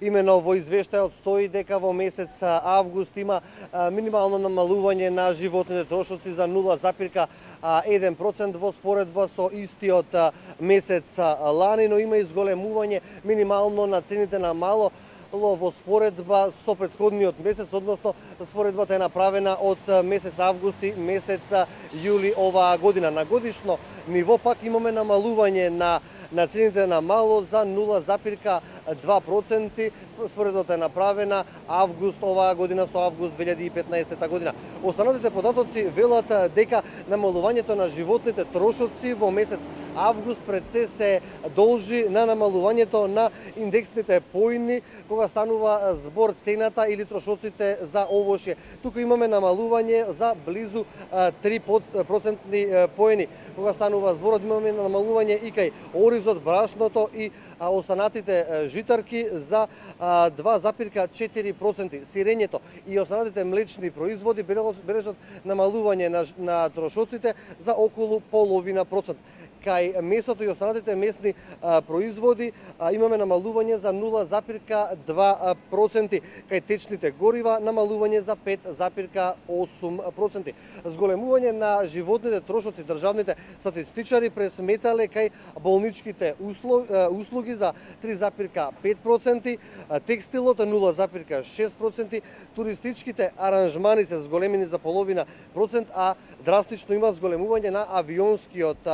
Имено во извештајот стои дека во месец август има минимално намалување на животните трошоци за 0,1% во споредба со истиот месец лани, но има и зголемување минимално на цените на мало во споредба со претходниот месец, односно споредбата е направена од месец август и месец јули оваа година. На годишно ниво пак имаме намалување на цените на мало за 0,2%. Споредбата е направена август оваа година со август 2015 година. Останатите податоци велат дека намалувањето на животните трошоци во месец август пред се должи на намалувањето на индексните поени кога станува збор цената или трошоците за овошје. Тука имаме намалување за близу 3% поени. Кога станува збор, имаме намалување и кај оризот, брашното и останатите житарки за 2,4%. Сирењето и останатите млечни производи бележат намалување на трошоците за околу половина процент. Кај месото и останатите месни производи имаме намалување за 0,2%. Кај течните горива намалување за 5,8%. Зголемување на животните трошоци државните статистичари пресметале кај болничките услуги за 3,5%, текстилот 0,6%, туристичките аранжмани се зголемени за половина процент, а драстично има зголемување на авионскиот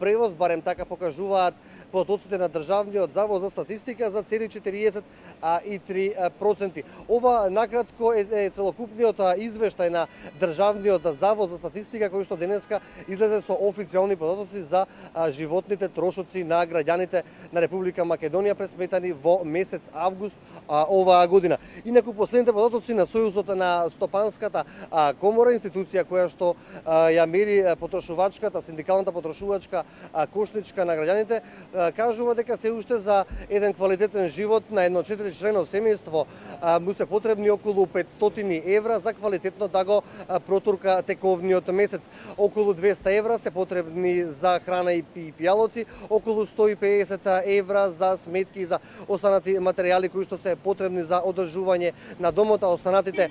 превоз, барем така покажуваат податоците на Државниот завод за статистика за цели 43%. Ова накратко е целокупниот извештај на Државниот завод за статистика кој што денеска излезе со официјални податоци за животните трошоци на граѓаните на Република Македонија пресметани во месец август оваа година. Инаку последните податоци на Сојузот на Стопанската комора, институција која што ја мери потрошувачката, синдикалната потрошувачка кошничка на граѓаните, кажува дека се уште за еден квалитетен живот на едно 4-члено семејство му се потребни околу 500 евра за квалитетно да го протурка тековниот месец. Околу 200 евра се потребни за храна и пијалоци, околу 150 евра за сметки и за останати материјали кои што се потребни за одржување на домот, а останатите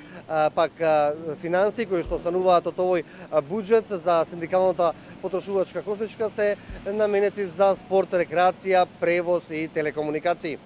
пак финансии кои што остануваат од овој буџет за синдикалната потрошувачка кошничка се наменети за спорт, рекреација, превоз и телекомуникации.